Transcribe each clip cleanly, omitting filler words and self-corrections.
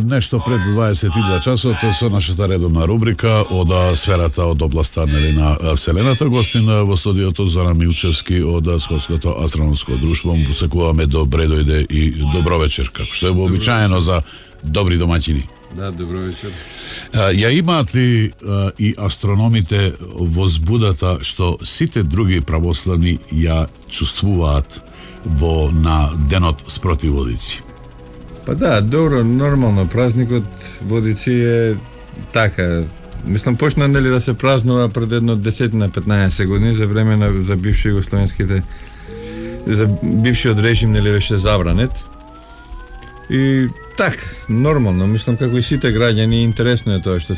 Нешто пред 22 часот со нашата редовна рубрика од сферата од областа на Вселената. Гостин во студиото Зоран Милчевски од Скотското астрономско друштво. Му посекуваме добре дојде и добро вечер, како што е вообичаено за добри домаќини. Да, добро вечер. Ја имаат ли и астрономите возбудата што сите други православни ја чувствуваат на денот спротив водици? Па да, добро, нормално, празникот водици е така. Мислам, почна нели да се празнува пред едно 10-15 години за време за бивши југословенските, за бившиот режим нели беше забранет. И така, нормално, мислам како и сите граѓани, интересно е тоа што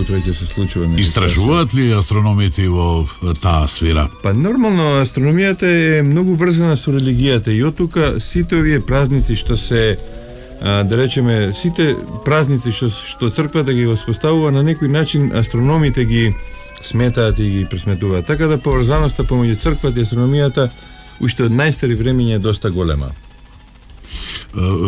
утре ќе се случува. Истражуваат ли астрономите во таа сфера? Па нормално, астрономијата е многу врзана со религијата и од тука сите овие празници што се да речеме, сите празници што црквата ги воспоставува, на некој начин астрономите ги сметаат и ги пресметуваат. Така да поврзаноста помеѓу црквата и астрономијата уште од најстари времиња е доста голема.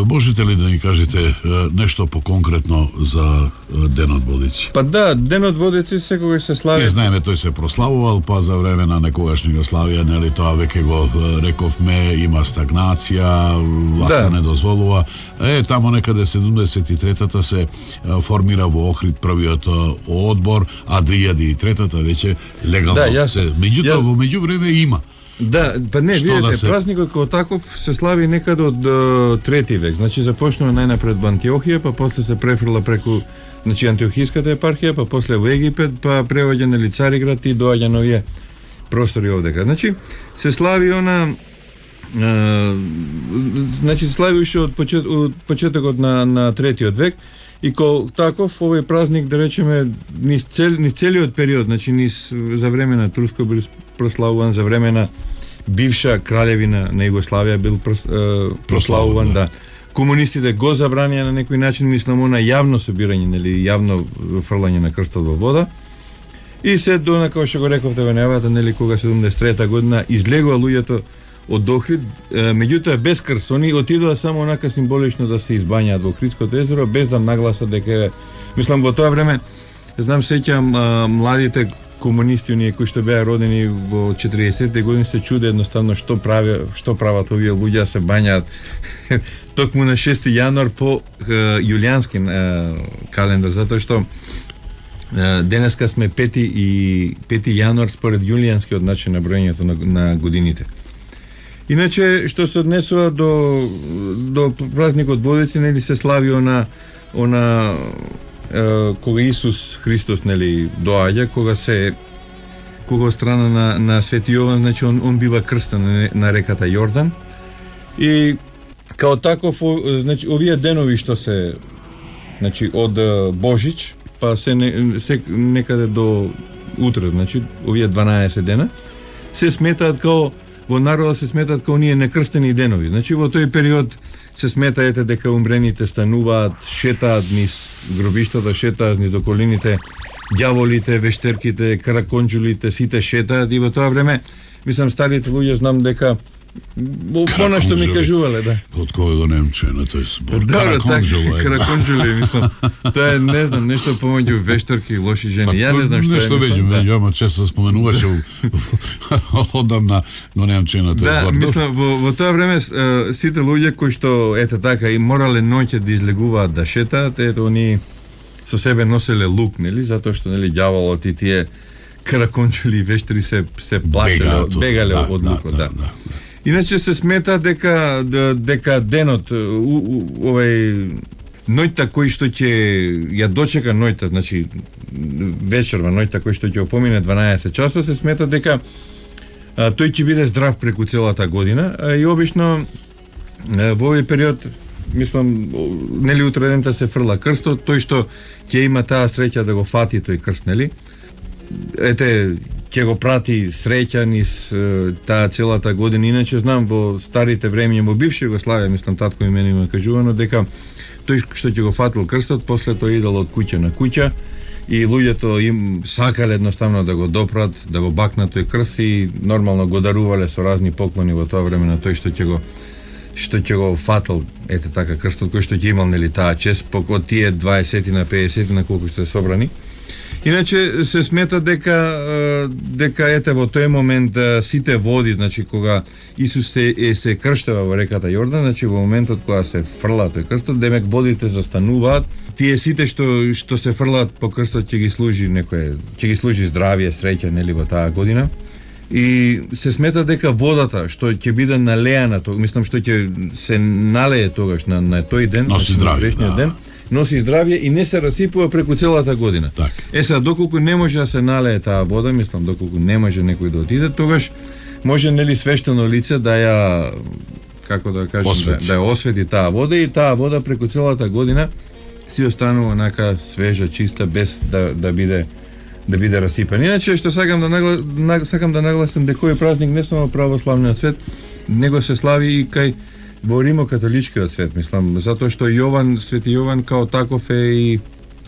Можете ли да ни кажете нешто поконкретно за денот водици? Па да, денот водици секогаш се слави. Не знаеме, тој се прославувал, па за време на некогашна Југославија, нели тоа веќе го рековме, има стагнација, власта не дозволува. Тамо некаде 73-та се формира во Охрид првиот одбор, а 2003-та веќе легално се. Меѓутоа во меѓувреме има. Да, па не, видите, празникот како таков се слави некаде од 3 век. Значи започнува најнапред во Антиохија, па после се префрла преку Антиохиската епархија, па после во Египет, па преваѓа на Цариград и доаѓа на овие простори овдека. Значи се слави се слави уште од почетокот на 3 век. И ко таков овој празник, да речеме, низ целиот период, значи за време на Турско бил прославуван, за време на бивша краљевина на Југославија бил прославуван, да. Комунистите го забранија на некој начин, мислам, на јавно собирање, нели, јавно фрлање на крстот во вода. И се до, како што го рековте во најавата, нели, кога 73-та година излегува луѓето од Охрид, меѓутоа без крст, они отидоа само онака символично да се избањаат во Охридското езеро, без да нагласат дека, мислам, во тоа време, знам, сеќам младите комунисти, оние кои што беа родени во 40-те години, се чуде едноставно што прават овие луѓе, се бањаат токму на 6 јануар по јулијански календар, затоа што денеска сме 5 јануар според јулијанскиот начин на броењето на годините. Иначе, што се однесува до празникот водици, нели се слави кога Исус Христос, нели, доаѓа, кога од страна на Свети Јован, значи он бива крстен на реката Јордан. И као таков, значи овие денови што се, значи од Божич, па се некаде до утре, значи овие 12 дена, се сметаат као во народот се сметат како оние некрстени денови. Значи во тој период се сметаете дека умрените стануваат, шетаат низ гробиштата, шетаат низ околините, ѓаволите, вештерките, караконџулите, сите шетаат и во тоа време, мислам, старите луѓе знам дека Она што ми кажувале, да. Од кога го немчено, тој збор. Караконџуле, мислам. Тоа е, не знам, нешто помеѓу вешторки и лоши жени. Ја не знам што е. Нешто меѓу, ама често споменуваше одамна го немчено тој збор. Да, мислам, во тоа време сите луѓе кои што ете така и морале ноќе да излегуваат да шетаат, ето они со себе носеле лук, нели, затоа што нели ѓаволот и тие караконџули и вештери се плашеле, бегале од лукот, да. Иначе се смета дека денот овај ноќта кој што ќе ја дочека ноќта, значи вечерва ноќта кој што ќе опомине 12 часот, се смета дека тој ќе биде здрав преку целата година, и обично во овој период, мислам, нели утре дента се фрла крстот, тој што ќе има таа среќа да го фати тој крст, нели? Ете, ќе го прати среќа низ таа целата година. Иначе знам во старите времиња, во бивша Југославија, мислам, татко и мене има кажувано дека тој што ќе го фатил крстот, после тоа идел од куќа на куќа и луѓето им сакале едноставно да го допрат, да го бакнат тој крст и нормално го дарувале со разни поклони во тоа време на тој што ќе го фатил, ете така, крстот кој што ќе имал, нели, таа чест, од тие 20 на 50 на колку што се собрани. Иначе се смета дека ете во тој момент сите води, значи кога Исус се крштева во реката Јордан, значи во моментот кога се фрла тој крстот, демек водите застануваат. Тие сите што се фрлаат по крстот ќе ги служи здравје, среќа, нели, во таа година. И се смета дека водата што ќе биде налеана, мислам што ќе се налее тогаш на тој ден, носи здравје, ден, носи здравје и не се расипува преку целата година. Так. Сега, доколку не може да се налее таа вода, мислам, доколку не може некој да отиде, тогаш може, нели, свештено лице да ја, како да кажем, да ја освети таа вода и таа вода преку целата година си останува онака свежа, чиста, без да биде расипан. Иначе, што сакам да нагласам дека овој празник не само православниот свет, него се слави и кај во римокатоличкиот свет, мислам, затоа што Свети Јован као таков е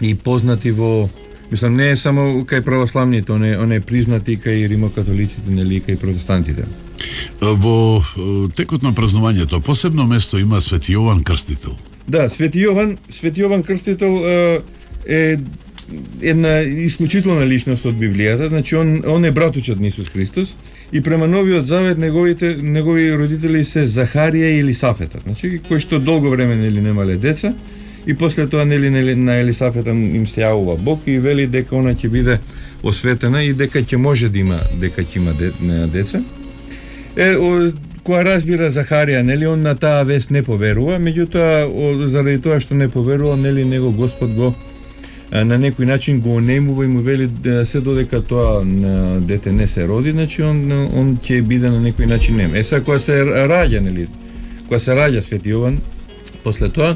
и познати во, мислам, не е само кај православните, он е признати кај римокатолиците, нели, кај протестантите. Во текот на празнувањето посебно место има Свети Јован Крстител. Да, Свети Јован Крстител е една исклучителна личност од Библијата, значи он е братучот на Исус Христос и према Новиот Завет негови родители се Захарија и Елисафета, значи кои што долго време нели немале деца и после тоа нели на Елисафета им се јавува Бог и вели дека она ќе биде осветена и дека ќе може да има деца. Која разбира Захарија, нели, он на таа вест не поверува, меѓутоа заради тоа што не поверува, нели, него Господ го на некој начин го онемува и му вели се додека тоа дете не се роди, значи он ќе биде на некој начин нем. Сега кога се раѓа, нели, кога се раѓа Свети Јован, после тоа,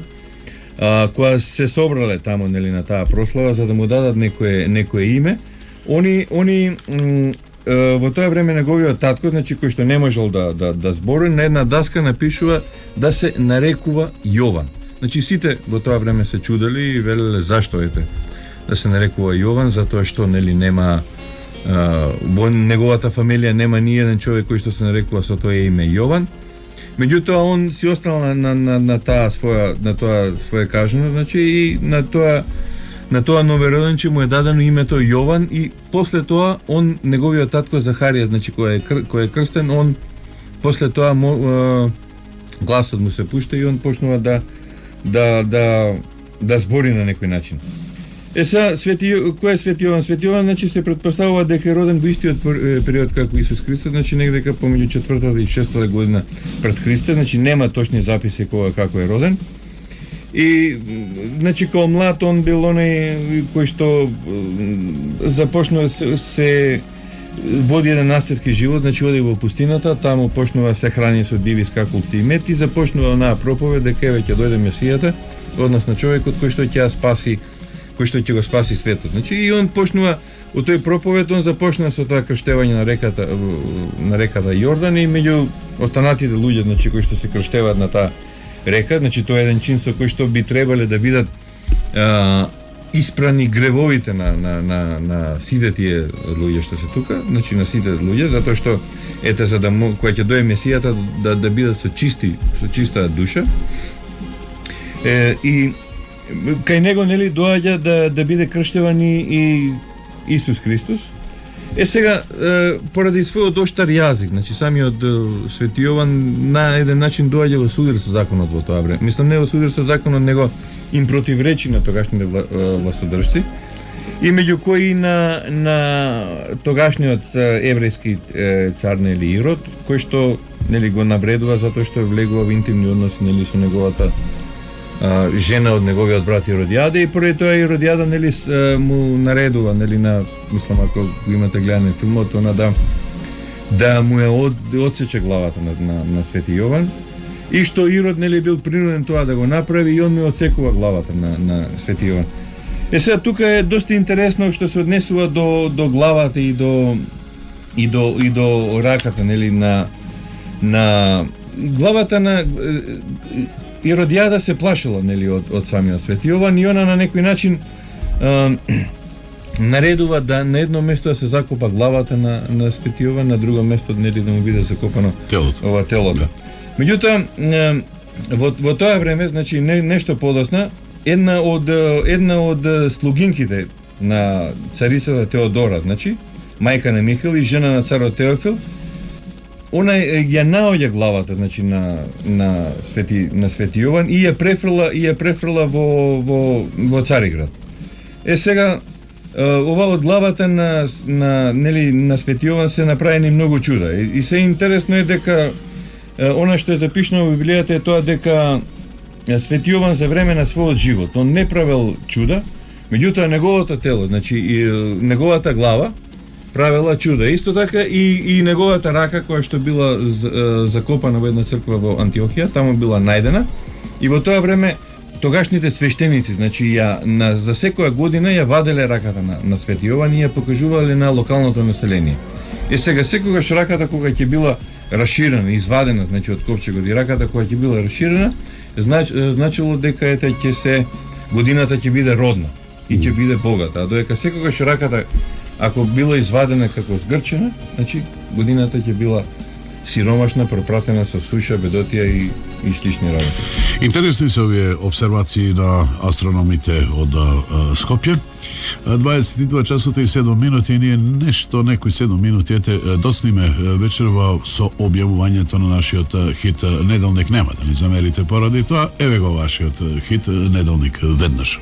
кога се собрале тамо, нели, на таа прослава за да му дадат некое име, они во тоа време неговиот татко, значи кој што не можел да збори, на една даска напишува да се нарекува Јован. Значи сите во тоа време се чудели и велеле зашто да се нарекува Јован, затоа што нели нема во неговата фамилија нема ни еден човек кој што се нарекува со тоа име Јован. Меѓутоа он си останал на тоа свое кажано, значи и на тоа новороденче му е дадено името Јован и после тоа неговиот татко Захарија, значи кој е крстен, он после тоа гласот му се пушта и он почнува да збори на некој начин. Кој е Свети Јован? Свети Јован, значи, се претпоставува дека е роден во истиот период како Исус Христос, значи негде помеѓу 4-та и 6-та година пред Христа, значи нема точни записи како е роден. И, значи, као млад, он бил оној кој што започнува се води еден настирски живот, значи оди во пустината, таму почнува се храни со диви скакулци и мед и започнува онаа проповед дека еве ќе дојде Месијата, односно човекот кој што ќе го спаси светот. Значи и он почнува од тој проповед, он започна со тоа крштевање на реката Јордан и меѓу останатите луѓе, значи кои што се крштеваат на таа река, значи тоа е еден чин со кој што би требале да бидат испрани гревовите на сите тие луѓе што се тука, значи на сите луѓе, затоа што ете за да кога ќе дое Месијата да бидат со чиста душа. И кај него нели доаѓа да биде крштеван и Исус Христос. Сега поради својот оштар јазик, значи самиот Свети Јован на еден начин доаѓа во судир со законот во тоа време. Мислам не во судир со законот, него им противречи на тогашните властодржци. И меѓу кои на тогашниот еврејски цар нели Ирод, кој што нели го навредува затоа што влегува во интимни односи нели со неговата жена од неговиот брат Иродијада, и поради тоа Иродијада нели му наредува нели на, мислам ако го имате гледане филмот, она да му ја одсече главата на Свети Јован, и што Ирод нели бил принуден тоа да го направи, и он му одсекува главата на Свети Јован. Сега тука е доста интересно што се однесува до главата и до раката нели на главата на Иродијада се плашила нели од самиот Свети Јован, и она на некој начин наредува да на едно место да се закопа главата на Свети Јован, на друго место нели да му биде закопано телото. Меѓутоа во тоа време, значи нешто подоцна, една од слугинките на царицата Теодора, значи мајка на Михаил и жена на царот Теофил, она ја наоѓа главата, значи на Свети Јован, и ја префрла во Цариград. Сега ова од главата на Свети Јован се направени многу чуда. И се интересно е дека она што е запишано во Библијата е тоа дека Свети Јован за време на својот живот он не правел чуда, меѓутоа неговото тело, значи неговата глава правела чуда. Исто така и неговата рака, која што била закопана во една црква во Антиохија, таму била најдена, и во тоа време тогашните свештеници, значи за секоја година ја ваделе раката на Свети Јован и ја покажувале на локалното население. Сега секогаш раката кога ќе била расширена, извадена, значи од ковчегот, и раката кога ќе била расширена, значило дека годината ќе биде родна и ќе биде богата, а додека секогаш раката ако била извадена како згрчена, значи годината ќе била сиромашна, пропратена со суша, бедотија и слични работи. Интересни се овие обсервации на астрономите од Скопје. 22 часот и 7 минути, и ние некои 7 минути доцниме вечерва со објавувањето на нашиот хит Неделник. Нема да ни замерите поради тоа, еве го вашиот хит Неделник веднаш.